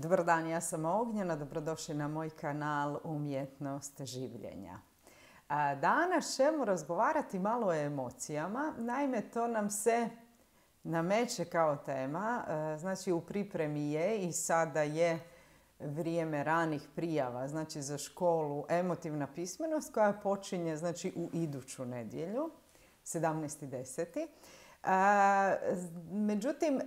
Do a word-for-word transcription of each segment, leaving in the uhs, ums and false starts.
Dobar dan, ja sam Ognjena, dobrodošli na moj kanal Umjetnost življenja. Danas ćemo razgovarati malo o emocijama, naime to nam se nameće kao tema, znači u pripremi je i sada je vrijeme ranih prijava, znači za školu emotivna pismenost koja počinje znači u iduću nedjelju, sedamnaesti deseti Međutim,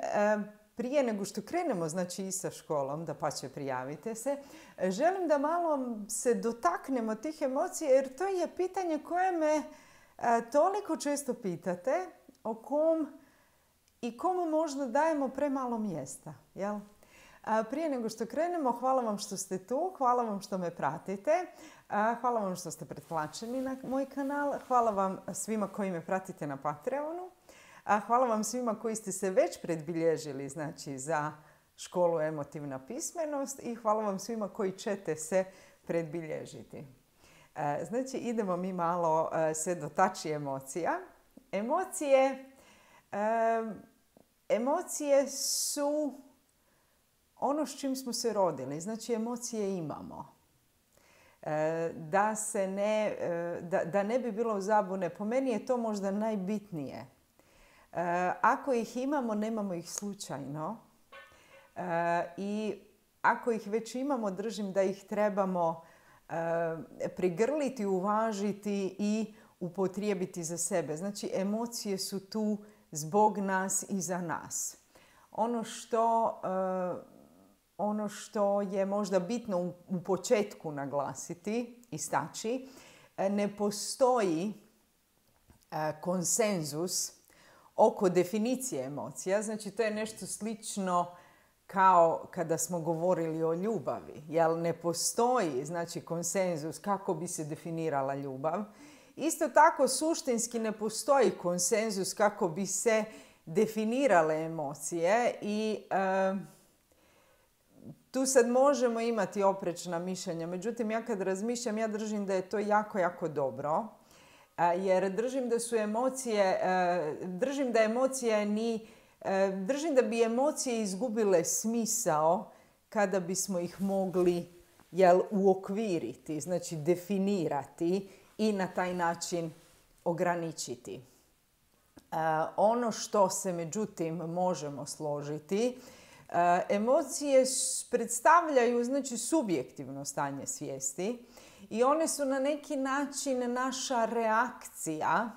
prije nego što krenemo znači i sa školom, da pa će prijavite se, želim da malo se dotaknemo tih emocija jer to je pitanje koje me toliko često pitate, o kom i komu možda dajemo premalo mjesta. Jel? Prije nego što krenemo, hvala vam što ste tu, hvala vam što me pratite, hvala vam što ste pretplaćeni na moj kanal, hvala vam svima koji me pratite na Patreonu. A hvala vam svima koji ste se već predbilježili znači, za školu emotivna pismenost i hvala vam svima koji ćete se predbilježiti. Znači idemo mi malo se dotaći emocija. Emocije, emocije su ono s čim smo se rodili. Znači emocije imamo. Da, se ne, da, da ne bi bilo zabune, po meni je to možda najbitnije. Ako ih imamo, nemamo ih slučajno i ako ih već imamo, držim da ih trebamo prigrliti, uvažiti i upotrijebiti za sebe. Znači, emocije su tu zbog nas i za nas. Ono što, ono što je možda bitno u početku naglasiti, istaći, ne postoji konsenzus oko definicije emocija. Znači, to je nešto slično kao kada smo govorili o ljubavi. Jel ne postoji znači, konsenzus kako bi se definirala ljubav. Isto tako, suštinski ne postoji konsenzus kako bi se definirale emocije i e, tu sad možemo imati oprečna mišljenja. Međutim, ja kad razmišljam, ja držim da je to jako, jako dobro. Jer držim da su emocije, držim da emocije ni, držim da bi emocije izgubile smisao kada bismo ih mogli jel, uokviriti, znači definirati i na taj način ograničiti. Ono što se međutim možemo složiti, emocije predstavljaju znači subjektivno stanje svijesti. I one su na neki način naša reakcija,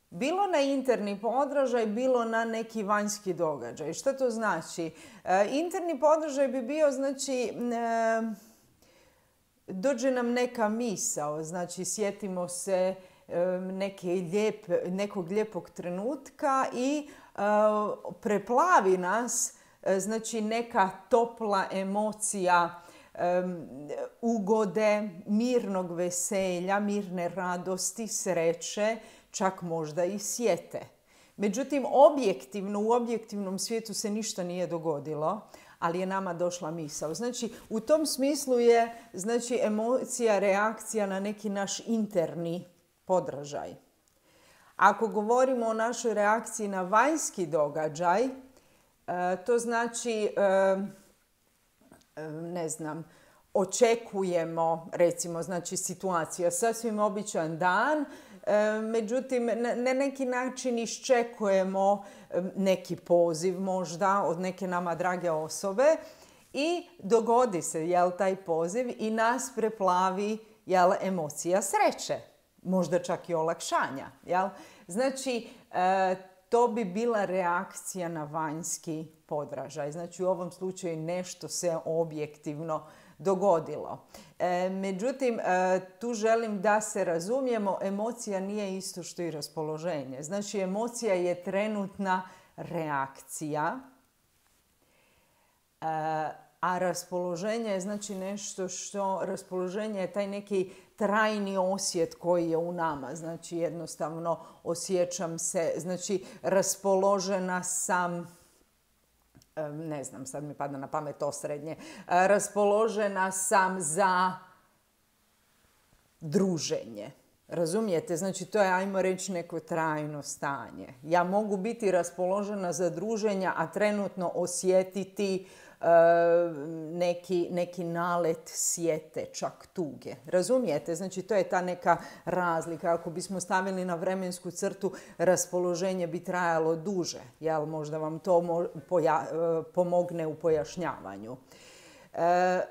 bilo na interni podražaj, bilo na neki vanjski događaj. Što to znači? E, interni podražaj bi bio, znači, e, dođe nam neka misao, znači sjetimo se e, neke lijep, nekog lijepog trenutka i e, preplavi nas, e, znači neka topla emocija, Um, ugode, mirnog veselja, mirne radosti, sreće, čak možda i sjete. Međutim, objektivno, u objektivnom svijetu se ništa nije dogodilo, ali je nama došla misao. Znači, u tom smislu je znači, emocija, reakcija na neki naš interni podražaj. Ako govorimo o našoj reakciji na vanjski događaj, uh, to znači... Uh, ne znam, očekujemo, recimo, znači situacija, sasvim običan dan, međutim, na neki način iščekujemo neki poziv možda od neke nama drage osobe i dogodi se, jel, taj poziv i nas preplavi, jel, emocija sreće, možda čak i olakšanja, jel? Znači, to bi bila reakcija na vanjski podražaj. Znači u ovom slučaju nešto se objektivno dogodilo. E, međutim, e, tu želim da se razumijemo, emocija nije isto što i raspoloženje. Znači emocija je trenutna reakcija, e, a raspoloženje je znači nešto što, raspoloženje je taj neki trajni osjet koji je u nama. Znači jednostavno osjećam se, znači raspoložena sam, ne znam, sad mi pada na pamet osrednje, raspoložena sam za druženje. Razumijete? Znači, to je, ajmo reći, neko trajno stanje. Ja mogu biti raspoložena za druženja, a trenutno osjetiti e, neki, neki nalet sjete, čak tuge. Razumijete? Znači, to je ta neka razlika. Ako bismo stavili na vremensku crtu, raspoloženje bi trajalo duže. Jel? Možda vam to mo- poja- pomogne u pojašnjavanju. E, e,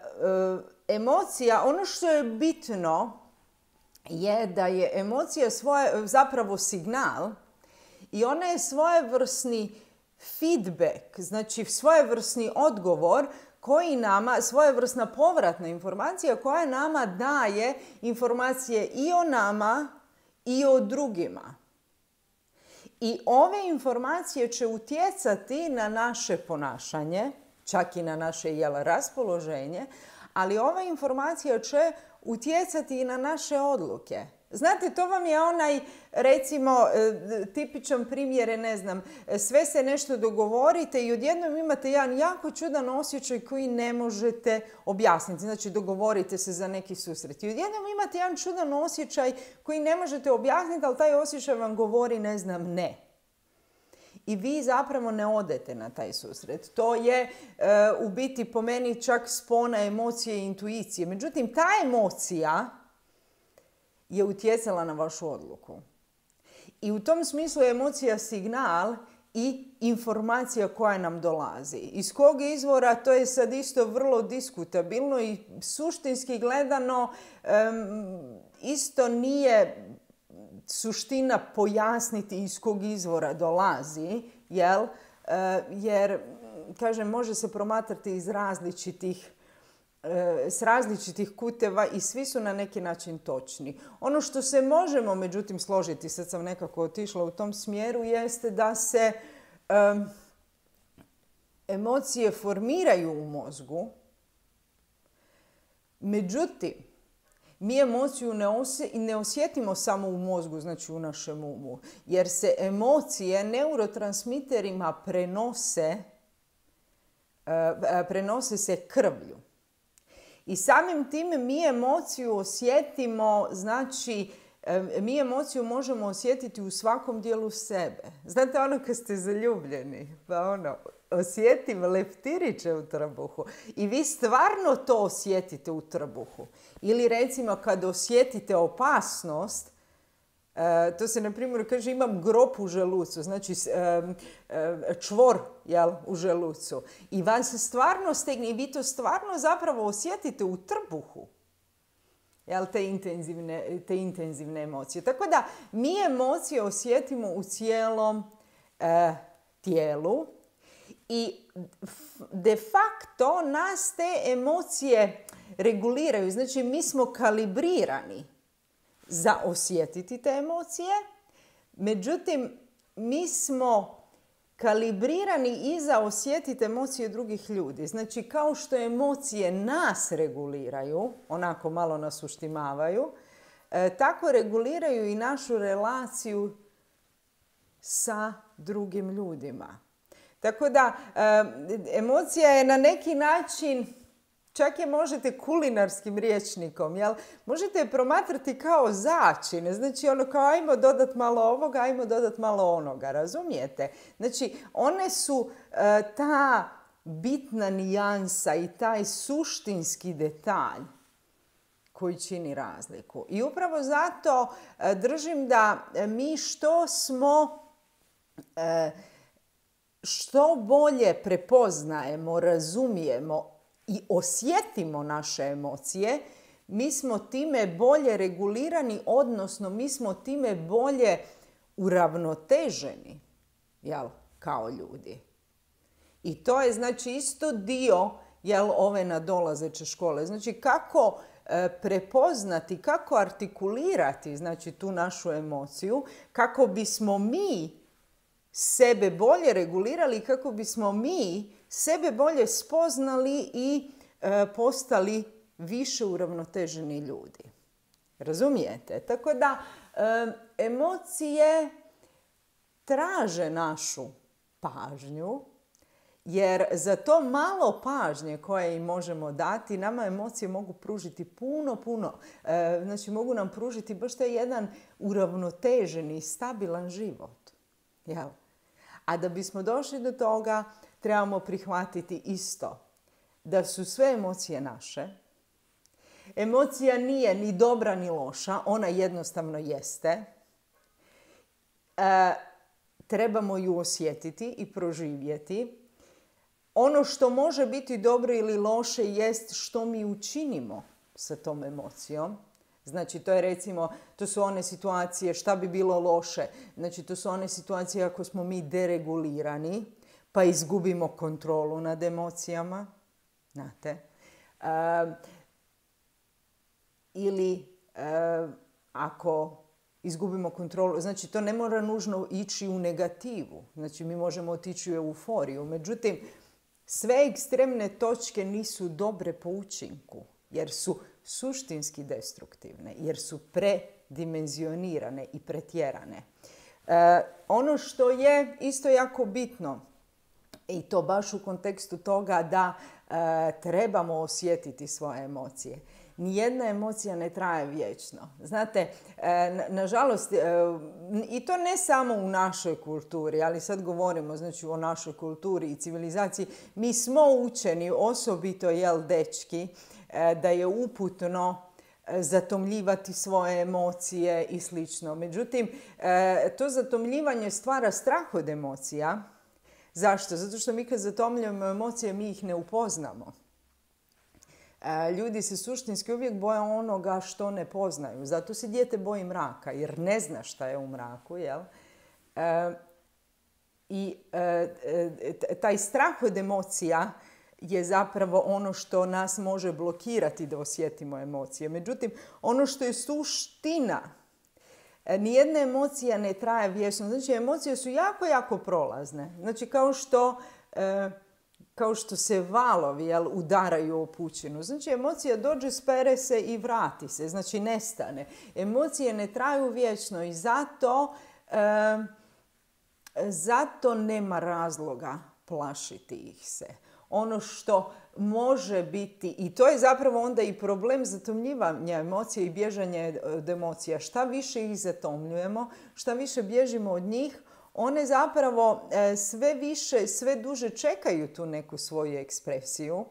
emocija, ono što je bitno je da je emocija svoje, zapravo signal i ona je svojevrsni feedback, znači svojevrsni odgovor koji nama, svojevrsna povratna informacija koja nama daje informacije i o nama i o drugima. I ove informacije će utjecati na naše ponašanje, čak i na naše jel, raspoloženje, ali ova informacija će utjecati i na naše odluke. Znate, to vam je onaj, recimo, tipičan primjer je, ne znam, sve se nešto dogovorite i odjednom imate jedan jako čudan osjećaj koji ne možete objasniti. Znači, dogovorite se za neki susret. I odjednom imate jedan čudan osjećaj koji ne možete objasniti, ali taj osjećaj vam govori, ne znam, ne. I vi zapravo ne odete na taj susret. To je e, u biti po meni čak spona emocije i intuicije. Međutim, ta emocija je utjecala na vašu odluku. I u tom smislu je emocija signal i informacija koja nam dolazi. Iz kog izvora, to je sad isto vrlo diskutabilno i suštinski gledano um, isto nije suština pojasniti iz kog izvora dolazi, jel? Uh, jer, kažem, može se promatrati iz različitih s različitih kuteva i svi su na neki način točni. Ono što se možemo, međutim, složiti, sad sam nekako otišla u tom smjeru, jeste da se um, emocije formiraju u mozgu, međutim, mi emociju ne, osje, ne osjetimo samo u mozgu, znači u našem umu, jer se emocije neurotransmiterima prenose, uh, prenose se krvlju. I samim tim mi emociju osjetimo, znači mi emociju možemo osjetiti u svakom dijelu sebe. Znate ono kad ste zaljubljeni, pa ono, osjetim leptiriće u trbuhu i vi stvarno to osjetite u trbuhu. Ili recimo kad osjetite opasnost, Uh, to se, na primjer, kaže imam grob u želucu, znači um, um, čvor jel, u želucu. I vas se stvarno stegne i vi to stvarno zapravo osjetite u trbuhu. Jel, te, intenzivne, te intenzivne emocije. Tako da mi emocije osjetimo u cijelom uh, tijelu i de facto nas te emocije reguliraju. Znači mi smo kalibrirani za osjetiti te emocije, međutim, mi smo kalibrirani i za osjetiti emocije drugih ljudi. Znači, kao što emocije nas reguliraju, onako malo nas uštimavaju, e, tako reguliraju i našu relaciju sa drugim ljudima. Tako da, e, emocija je na neki način, čak je možete kulinarskim rječnikom, jel? Možete je promatrati kao začine. Znači, ono kao ajmo dodat malo ovoga, ajmo dodat malo onoga, razumijete? Znači, one su uh, ta bitna nijansa i taj suštinski detalj koji čini razliku. I upravo zato uh, držim da mi što smo, uh, što bolje prepoznajemo, razumijemo i osjetimo naše emocije, mi smo time bolje regulirani, odnosno mi smo time bolje uravnoteženi, jel, kao ljudi. I to je, znači, isto dio, jel, ove nadolazeće škole. Znači, kako e, prepoznati, kako artikulirati, znači, tu našu emociju, kako bismo mi sebe bolje regulirali, kako bismo mi sebe bolje spoznali i e, postali više uravnoteženi ljudi. Razumijete? Tako da e, emocije traže našu pažnju Jer za to malo pažnje koje im možemo dati, nama emocije mogu pružiti puno, puno. E, znači mogu nam pružiti baš taj jedan uravnoteženi, stabilan život. Jel? A da bismo došli do toga, trebamo prihvatiti isto. Da su sve emocije naše. Emocija nije ni dobra ni loša, ona jednostavno jeste. E, trebamo ju osjetiti i proživjeti. Ono što može biti dobro ili loše jest što mi učinimo sa tom emocijom. Znači, to je recimo, to su one situacije šta bi bilo loše. Znači, to su one situacije ako smo mi deregulirani, pa izgubimo kontrolu nad emocijama. Znate? E, ili e, ako izgubimo kontrolu, znači to ne mora nužno ići u negativu. Znači, mi možemo otići u euforiju. Međutim, sve ekstremne točke nisu dobre po učinku, jer su suštinski destruktivne, jer su predimenzionirane i pretjerane. E, ono što je isto jako bitno, i to baš u kontekstu toga da e, trebamo osjetiti svoje emocije. Nijedna emocija ne traje vječno. Znate, e, nažalost, e, i to ne samo u našoj kulturi, ali sad govorimo znači, o našoj kulturi i civilizaciji. Mi smo učeni, osobito jel dečki, e, da je uputno zatomljivati svoje emocije i slično. Međutim, e, to zatomljivanje stvara strah od emocija. Zašto? Zato što mi kad zatomljujemo emocije, mi ih ne upoznamo. Ljudi se suštinski uvijek boje onoga što ne poznaju. Zato se dijete boji mraka, jer ne zna šta je u mraku. Jel? E, I e, taj strah od emocija je zapravo ono što nas može blokirati da osjetimo emocije. Međutim, ono što je suština, nijedna emocija ne traje vječno. Znači, emocije su jako, jako prolazne. Znači, kao što... E, kao što se valovi jel, udaraju o pučinu. Znači, emocija dođe, spere se i vrati se. Znači, nestane. Emocije ne traju vječno i zato, e, zato nema razloga plašiti ih se. Ono što može biti, i to je zapravo onda i problem zatomljivanja emocija i bježanje od emocija. Šta više ih zatomljujemo, šta više bježimo od njih, one zapravo sve više, sve duže čekaju tu neku svoju ekspresiju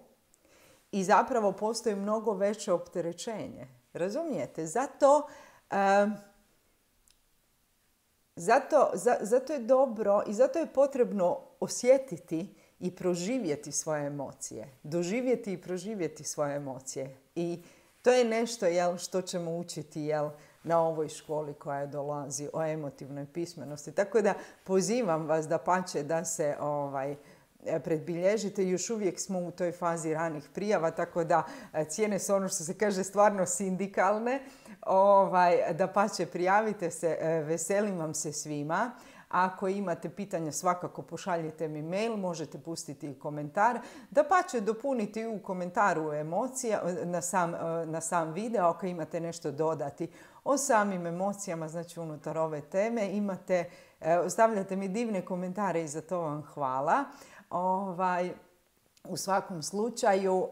i zapravo postoji mnogo veće opterećenje. Razumijete? Zato, um, zato, za, zato je dobro i zato je potrebno osjetiti i proživjeti svoje emocije. Doživjeti i proživjeti svoje emocije. I to je nešto jel, što ćemo učiti jel, na ovoj školi koja dolazi o emotivnoj pismenosti. Tako da pozivam vas da pače da se ovaj, predbilježite. Još uvijek smo u toj fazi ranih prijava, tako da cijene su ono što se kaže stvarno sindikalne. Ovaj, da pače prijavite se, veselim vam se svima. Ako imate pitanja, svakako pošaljite mi mail, možete pustiti i komentar. Da pače dopuniti u komentaru emocija na sam, na sam video ako imate nešto dodati o samim emocijama, znači unutar ove teme. Imate, ostavljate mi divne komentare i za to vam hvala. Ovaj, u svakom slučaju...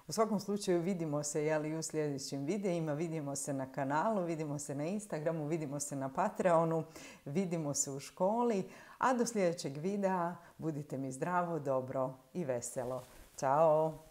U svakom slučaju vidimo se jeli, u sljedećim videima, vidimo se na kanalu, vidimo se na Instagramu, vidimo se na Patreonu, vidimo se u školi. A do sljedećeg videa budite mi zdravo, dobro i veselo. Ćao!